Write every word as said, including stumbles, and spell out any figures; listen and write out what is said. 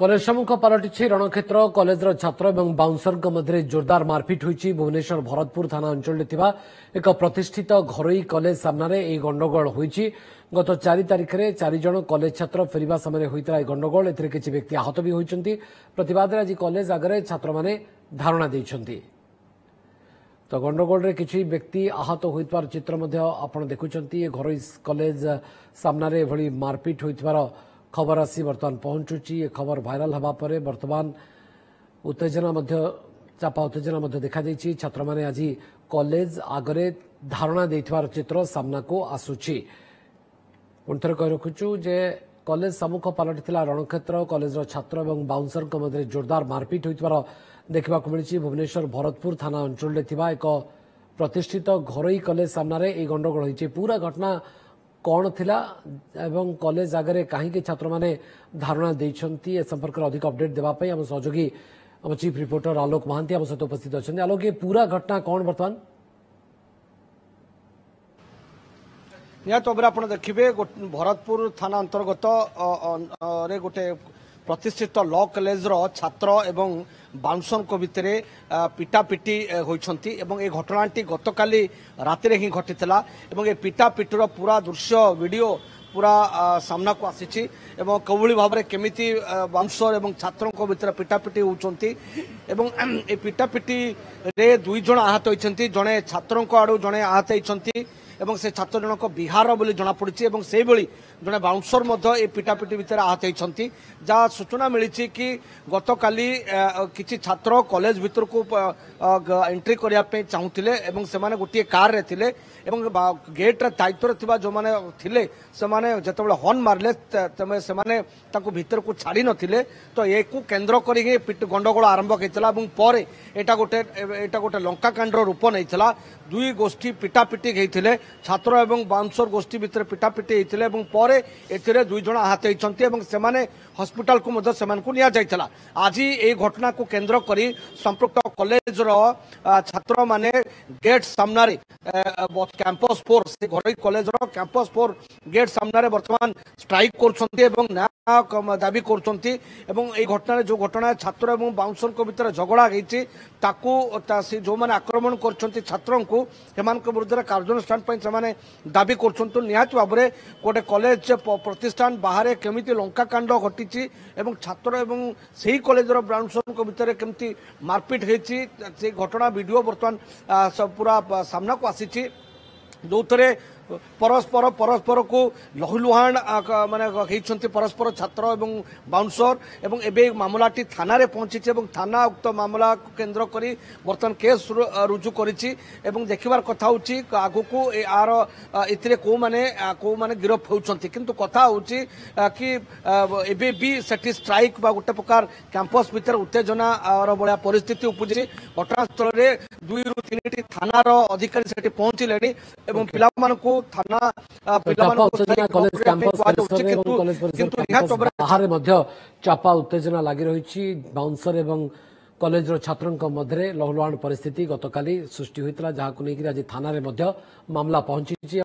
College ସମ୍ମୁଖ ପାଲଟିଛି ରଣକ୍ଷେତ୍ର। କଲେଜର ଛାତ୍ର ଏବଂ ବାଉନ୍ସରଙ୍କ ମଧ୍ୟରେ ଜୋରଦାର ମାରପିଟ ହୋଇଛି। ଭୁବନେଶ୍ୱର ଭରତପୁର ଥାନା ଅଞ୍ଚଳରେ ଥିବା ଏକ ପ୍ରତିଷ୍ଠିତ ଘରୋଇ କଲେଜ ସାମ୍ନାରେ ଏହି ଗଣ୍ଡଗୋଳ ହୋଇଛି। ଗତ ଚାରି ତାରିଖରେ ଚାରିଜଣ କଲେଜ ଛାତ୍ର ଫେରିବା ସମୟରେ ହୋଇଥିଲା ଏହି ଗଣ୍ଡଗୋଳ। ଏଥିରେ କିଛି ବ୍ୟକ୍ତି ଆହତ ବି ହୋଇଛନ୍ତି। ପ୍ରତିବାଦରେ ଆଜି କଲେଜ ଆଗରେ ଛାତ୍ରମାନେ ଧାରଣା ଦେଇଛନ୍ତି। ତ ଗଣ୍ଡଗୋଳରେ କିଛି ବ୍ୟକ୍ତି ଆହତ ହୋଇଥିବାର ଚିତ୍ର ମଧ୍ୟ ଆପଣ ଦେଖୁଛନ୍ତି। ଏ ଘରୋଇ କଲେଜ ସାମ୍ନାରେ ଏଭଳି ମାରପିଟ ହୋଇଥିବାର ଖବର ଆସି ବର୍ତ୍ତମାନ ପହଞ୍ଚୁଛି। ଏ ଖବର ଭାଇରାଲ ହେବା ପରେ ବର୍ତ୍ତମାନ ଉତ୍ତେଜନା ମଧ୍ୟ ଚାପା ଉତ୍ତେଜନା ମଧ୍ୟ ଦେଖାଦେଇଛି। ଛାତ୍ରମାନେ ଆଜି କଲେଜ ଆଗରେ ଧାରଣା ଦେଇଥିବାର ଚିତ୍ର ସାମ୍ନାକୁ ଆସୁଛି। ପୁଣି ଥରେ କହି ରଖୁଛୁ ଯେ କଲେଜ ସମ୍ମୁଖ ପାଲଟିଥିଲା ରଣକ୍ଷେତ୍ର। କଲେଜର ଛାତ୍ର ଏବଂ ବାଉନ୍ସରଙ୍କ ମଧ୍ୟରେ ଜୋରଦାର ମାରପିଟ ହୋଇଥିବାର ଦେଖିବାକୁ ମିଳିଛି। ଭୁବନେଶ୍ୱର ଭରତପୁର ଥାନା ଅଞ୍ଚଳରେ ଥିବା ଏକ ପ୍ରତିଷ୍ଠିତ ଘରୋଇ କଲେଜ ସାମ୍ନାରେ ଏହି ଗଣ୍ଡଗୋଳ ହୋଇଛି। ପୁରା ଘଟଣା କ'ଣ ଥିଲା ଏବଂ କଲେଜ ଆଗରେ କାହିଁକି ଛାତ୍ରମାନେ ଧାରଣା ଦେଇଛନ୍ତି, ଏ ସମ୍ପର୍କରେ ଅଧିକ ଅପଡେଟ୍ ଦେବା ପାଇଁ ଆମ ସହଯୋଗୀ ଆମ ଚିଫ୍ ରିପୋର୍ଟର ଆଲୋକ ମହାନ୍ତି ଆମ ସହିତ ଉପସ୍ଥିତ ଅଛନ୍ତି। ଆଲୋକ, ଏ ପୁରା ଘଟଣା କ'ଣ ବର୍ତ୍ତମାନ? ନିହାତି ଭାବରେ ଆପଣ ଦେଖିବେ, ଭରତପୁର ଥାନା ଅନ୍ତର୍ଗତ ରେ ଗୋଟେ ପ୍ରତିଷ୍ଠିତ ଲ କଲେଜର ଛାତ୍ର ଏବଂ ବାଉନ୍ସରଙ୍କ ଭିତରେ ପିଟାପିଟି ହୋଇଛନ୍ତି ଏବଂ ଏ ଘଟଣାଟି ଗତକାଲି ରାତିରେ ହିଁ ଘଟିଥିଲା ଏବଂ ଏ ପିଟାପିଟିର ପୁରା ଦୃଶ୍ୟ ଭିଡ଼ିଓ ପୁରା ସାମ୍ନାକୁ ଆସିଛି ଏବଂ କେଉଁଭଳି ଭାବରେ କେମିତି ବାଉନ୍ସର ଏବଂ ଛାତ୍ରଙ୍କ ଭିତରେ ପିଟାପିଟି ହେଉଛନ୍ତି ଏବଂ ଏ ପିଟାପିଟିରେ ଦୁଇ ଜଣ ଆହତ ହୋଇଛନ୍ତି। ଜଣେ ଛାତ୍ରଙ୍କ ଆଡ଼ୁ ଜଣେ ଆହତ ହୋଇଛନ୍ତି ଏବଂ ସେ ଛାତ୍ର ଜଣକ ବିହାର ବୋଲି ଜଣାପଡ଼ିଛି ଏବଂ ସେଇଭଳି ଜଣେ ବାଉନ୍ସର ମଧ୍ୟ ଏ ପିଟାପିଟି ଭିତରେ ଆହତ ହୋଇଛନ୍ତି। ଯାହା ସୂଚନା ମିଳିଛି କି ଗତକାଲି କିଛି ଛାତ୍ର କଲେଜ ଭିତରକୁ ଏଣ୍ଟ୍ରି କରିବା ପାଇଁ ଚାହୁଁଥିଲେ ଏବଂ ସେମାନେ ଗୋଟିଏ କାରରେ ଥିଲେ ଏବଂ ଗେଟ୍ର ଦାୟିତ୍ୱରେ ଥିବା ଯେଉଁମାନେ ଥିଲେ ସେମାନେ ଯେତେବେଳେ ହର୍ନ ମାରିଲେ ତେବେ ସେମାନେ ତାଙ୍କୁ ଭିତରକୁ ଛାଡ଼ି ନଥିଲେ। ତ ଏକୁ କେନ୍ଦ୍ର କରିକି ଗଣ୍ଡଗୋଳ ଆରମ୍ଭ ହୋଇଥିଲା ଏବଂ ପରେ ଏଇଟା ଗୋଟେ ଏଇଟା ଗୋଟେ ଲଙ୍କାକାଣ୍ଡର ରୂପ ନେଇଥିଲା। ଦୁଇ ଗୋଷ୍ଠୀ ପିଟାପିଟି ହେଇଥିଲେ, ଛାତ୍ର ଏବଂ ବାଉନ୍ସର ଗୋଷ୍ଠୀ ଭିତରେ ପିଟାପିଟି ହେଇଥିଲେ ଏବଂ ପରେ ଏଥିରେ ଦୁଇ ଜଣ ଆହତ ହୋଇଛନ୍ତି ଏବଂ ସେମାନେ ହସ୍ପିଟାଲକୁ ମଧ୍ୟ ସେମାନଙ୍କୁ ନିଆଯାଇଥିଲା। ଆଜି ଏହି ଘଟଣାକୁ କେନ୍ଦ୍ର କରି ସମ୍ପୃକ୍ତ କଲେଜର ଛାତ୍ରମାନେ ଗେଟ୍ ସାମ୍ନାରେ କ୍ୟାମ୍ପସ୍ ଫୋର୍, ସେ ଘରୋଇ କଲେଜର କ୍ୟାମ୍ପସ୍ ଫୋର୍ ଗେଟ୍ ସାମ୍ନାରେ ବର୍ତ୍ତମାନ ଷ୍ଟ୍ରାଇକ୍ କରୁଛନ୍ତି ଏବଂ ନ୍ୟାୟ ଦାବି କରୁଛନ୍ତି। ଏବଂ ଏହି ଘଟଣାରେ ଯେଉଁ ଘଟଣା ଛାତ୍ର ଏବଂ ବାଉନ୍ସରଙ୍କ ଭିତରେ ଝଗଡ଼ା ହେଇଛି, ତାକୁ ସେ ଯେଉଁମାନେ ଆକ୍ରମଣ କରିଛନ୍ତି ଛାତ୍ରଙ୍କୁ ସେମାନଙ୍କ ବିରୁଦ୍ଧରେ କାର୍ଯ୍ୟାନୁଷ୍ଠାନ ପାଇଁ ସେମାନେ ଦାବି କରୁଛନ୍ତି। ନିହାତି ଭାବରେ ଗୋଟେ କଲେଜ ପ୍ରତିଷ୍ଠାନ ବାହାରେ କେମିତି ଲଙ୍କାକାଣ୍ଡ ଘଟିଛି ଏବଂ ଛାତ୍ର ଏବଂ ସେହି କଲେଜର ବାଉନ୍ସରଙ୍କ ଭିତରେ କେମିତି ମାରପିଟ ହେଇଛି, ସେ ଘଟଣା ଭିଡ଼ିଓ ବର୍ତ୍ତମାନ ପୁରା ସାମ୍ନାକୁ ଆସିଛି, ଯେଉଁଥିରେ ପରସ୍ପର ପରସ୍ପରକୁ ଲହୁଲୁହାଣ ମାନେ ହେଇଛନ୍ତି ପରସ୍ପର ଛାତ୍ର ଏବଂ ବାଉନ୍ସର। ଏବଂ ଏବେ ମାମଲାଟି ଥାନାରେ ପହଞ୍ଚିଛି ଏବଂ ଥାନା ଉକ୍ତ ମାମଲାକୁ କେନ୍ଦ୍ର କରି ବର୍ତ୍ତମାନ କେସ୍ ରୁଜୁ କରିଛି ଏବଂ ଦେଖିବାର କଥା ହେଉଛି ଆଗକୁ ଆର ଏଥିରେ କେଉଁମାନେ କେଉଁମାନେ ଗିରଫ ହେଉଛନ୍ତି। କିନ୍ତୁ କଥା ହେଉଛି କି ଏବେ ବି ସେଠି ଷ୍ଟ୍ରାଇକ୍ ବା ଗୋଟେ ପ୍ରକାର କ୍ୟାମ୍ପସ୍ ଭିତରେ ଉତ୍ତେଜନାର ଭଳିଆ ପରିସ୍ଥିତି ଉପୁଜିଛି। ଘଟଣାସ୍ଥଳରେ ଦୁଇରୁ ତିନିଟି ଥାନାର ଅଧିକାରୀ ସେଠି ପହଞ୍ଚିଲେଣି ଏବଂ ପିଲାମାନଙ୍କୁ ଥାନା ବାହାରେ ମଧ୍ୟ ଚାପା ଉତ୍ତେଜନା ଲାଗି ରହିଛି। ବାଉନ୍ସର ଏବଂ କଲେଜର ଛାତ୍ରଙ୍କ ମଧ୍ୟରେ ଲହୁଲୁହାଣ ପରିସ୍ଥିତି ଗତକାଲି ସୃଷ୍ଟି ହୋଇଥିଲା, ଯାହାକୁ ନେଇକରି ଆଜି ଥାନାରେ ମଧ୍ୟ ମାମଲା ପହଞ୍ଚିଛି।